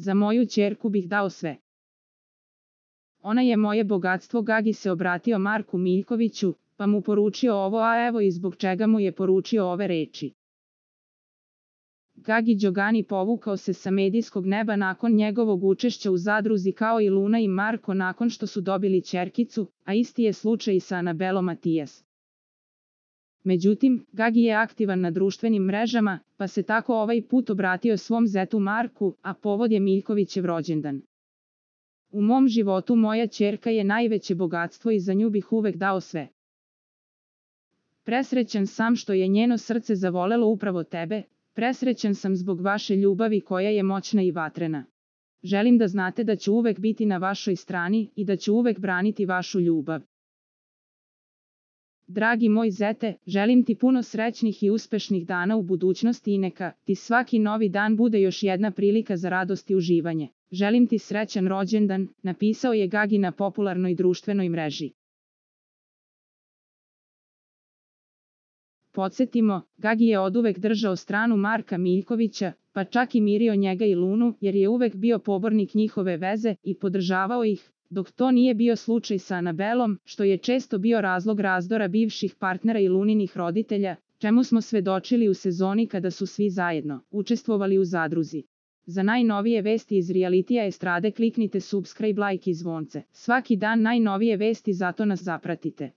Za moju ćerku bih dao sve. Ona je moje bogatstvo. Gagi se obratio Marku Miljkoviću, pa mu poručio ovo, a evo i zbog čega mu je poručio ove reči. Gagi Đogani povukao se sa medijskog neba nakon njegovog učešća u zadruzi kao i Luna i Marko nakon što su dobili ćerkicu, a isti je slučaj i sa Anabelom Matijas. Međutim, Gagi je aktivan na društvenim mrežama, pa se tako ovaj put obratio svom zetu Marku, a povod je Miljkovićev rođendan. U mom životu moja ćerka je najveće bogatstvo i za nju bih uvek dao sve. Presrećan sam što je njeno srce zavolelo upravo tebe, presrećan sam zbog vaše ljubavi koja je moćna i vatrena. Želim da znate da ću uvek biti na vašoj strani i da ću uvek braniti vašu ljubav. Dragi moj zete, želim ti puno srećnih i uspešnih dana u budućnosti i neka ti svaki novi dan bude još jedna prilika za radost i uživanje. Želim ti srećan rođendan, napisao je Gagi na popularnoj društvenoj mreži. Podsjetimo, Gagi je oduvek držao stranu Marka Miljkovića, pa čak i mirio njega i Lunu, jer je uvek bio pobornik njihove veze i podržavao ih, dok to nije bio slučaj sa Anabelom, što je često bio razlog razdora bivših partnera i Luninih roditelja, čemu smo svedočili u sezoni kada su svi zajedno učestvovali u zadruzi. Za najnovije vesti iz realitija estrade kliknite subscribe, like i zvonce. Svaki dan najnovije vesti, zato nas zapratite.